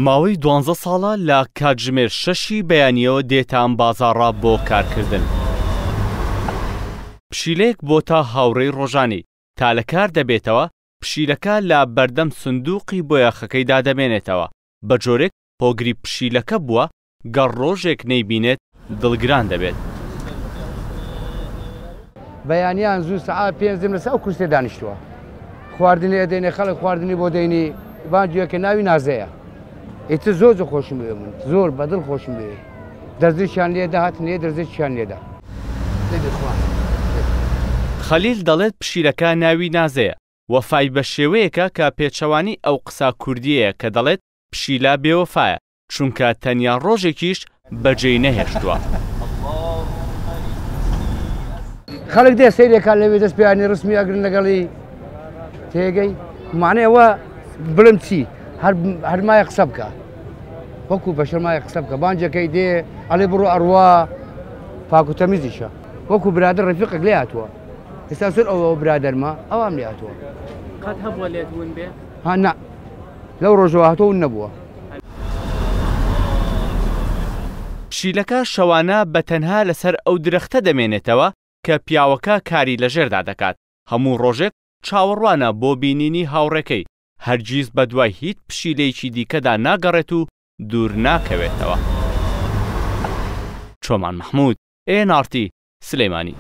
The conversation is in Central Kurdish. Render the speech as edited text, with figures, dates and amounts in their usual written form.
ماوەی دوانزە ساڵە لە کاتژمێر شەشی بەیانییەوە دێتە ئەم بازاڕە بۆ کارکردن. پشیلەیەک بۆتە هاوڕێی ڕۆژانەی، تا لە کار دەبێتەوە، پشیلەکە لە بەردەم سندووقی بۆیاخەکەیدا دەمێنێتەوە، بە جۆرێک هۆگری پشیلەکە بووە، گەر ڕۆژێک نەیبینێت دڵگران دەبێت. بەیانیان زوو سەعات پێنج دێم لەسەر ئەو کورسیە دانیشتووە خواردنی ئەدەینێ خەڵک خواردنی بۆ دەینی بانگێکە ناوی نازەیە ئیتر زۆر زۆر خۆشم بوێ من زۆر بەدڵ خۆشم بوێ دەرزێکیان لێدا هاتن لێ دەرزێکیان لێدا خەلیل دەڵێت پشیلەکە ناوی نازەیە، وەفای بە شێوەیەکە کە پێچەوانەی ئەو قسە کوردییەیە کە دەڵێت پشیلە بێوەفایە، چونکە تەنیا ڕۆژێکیش بەجێی نەهێشتووە. خەڵک دێ سەیرێکا لەوێ دەست پێیانی ڕسمی ئەگرن لەگەڵی تێگەی معنی ئەوە بڵم چی هەر مایە قسە بکە وەکو بەشەر مایە قسە بکە بانجەکەی دێ ئەڵێ بڕۆ ئەڕوا پاک و تەمیزیشە وەکو برادر ڕفیقێک لێ هاتووە ئێستا زۆر ئەوە برادەرمە ئەوام لێ هاتووە قەت هەبووە لێت ون بێ؟ ها نا لەو ڕۆژەوە هاتووە ون نەبووە. پشیلەکە شەوانە بە تەنها لەسەر ئەو درەختە دەمێنێتەوە کە پیاوەکە کاری لەژێردا دەکات، هەموو ڕۆژێک چاوەڕوانە بۆ بینینی هاوڕێکەی، هەرگیز بەدوای هیچ پشیلەیەکی دیکەدا ناگەڕێت و دوور ناکەوێتەوە. چۆمان مەحمود، ئێن ئاڕ تی، سلێمانی.